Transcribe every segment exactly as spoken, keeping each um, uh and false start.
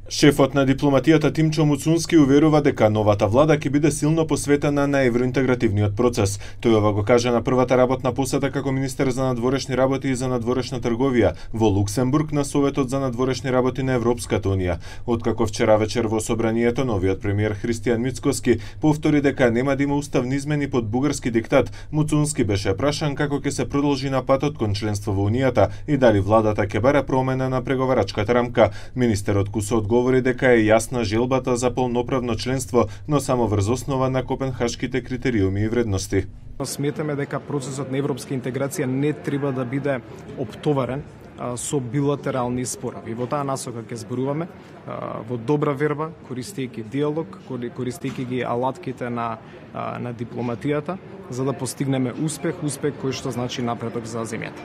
Шефот на дипломатијата Тимчо Муцунски уверува дека новата влада ќе биде силно посветена на евроинтегративниот процес. Тој ова го кажа на првата работна посета како министер за надворешни работи и за надворешна трговија во Луксембург на Советот за надворешни работи на Европската унија. Откако вчера вечер во собранието новиот премиер Христијан Мицкоски повтори дека нема да има уставни измени под бугарски диктат, Муцунски беше прашан како ќе се продолжи на патот кон членство во унијата и дали владата ќе бара промена на преговарачката рамка. Министерот Кусо говори дека е јасна желбата за полноправно членство, но само врз основа на копенхашките критериуми и вредности. Сметаме дека процесот на европска интеграција не треба да биде оптоварен со билатерални спорови. Во таа насока ќе зборуваме во добра верба, користејќи диалог, користејќи ги алатките на на дипломатијата, за да постигнеме успех, успех кој што значи напредок за земјата.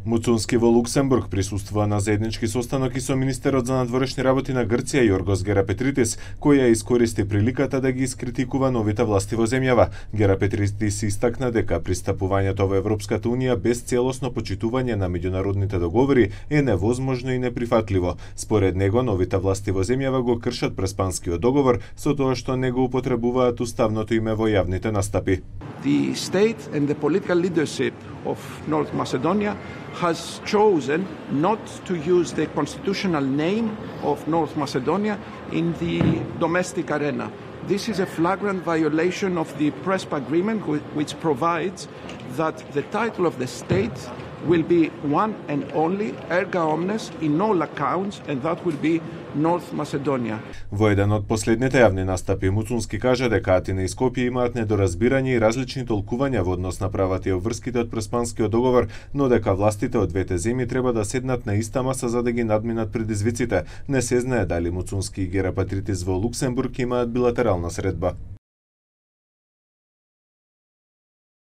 Муцунски во Луксембург присуствува на заеднички состанок и со министерот за надворешни работи на Грција Јоргос Герапетритис, кој ја искористи приликата да ги искритикува новите власти во земјава. Герапетритис истакна дека пристапувањето во Европската унија без целосно почитување на меѓународните договори е невозможно и неприфатливо. Според него, новите власти во земјава го кршат Преспанскиот договор со тоа што не го употребуваат уставното име во јавните настапи. The state and the political leadership of North Macedonia has chosen not to use the constitutional name of North Macedonia in the domestic arena. This is a flagrant violation of the Prespa agreement, which provides that the title of the state will be one and only erga omnes in all accounts, and that will be North Macedonia. Во еден од последните јавни настапи Муцунски кажа дека Атина и Скопје имаат недоразбирање и различни толкувања во однос на правата и обврските од Преспанскиот договор, но дека властите од двете земји треба да седнат на иста маса за да ги надминат предизвиците. Не се знае дали Муцунски и Герапетритис во Луксембург имаат билатерална средба.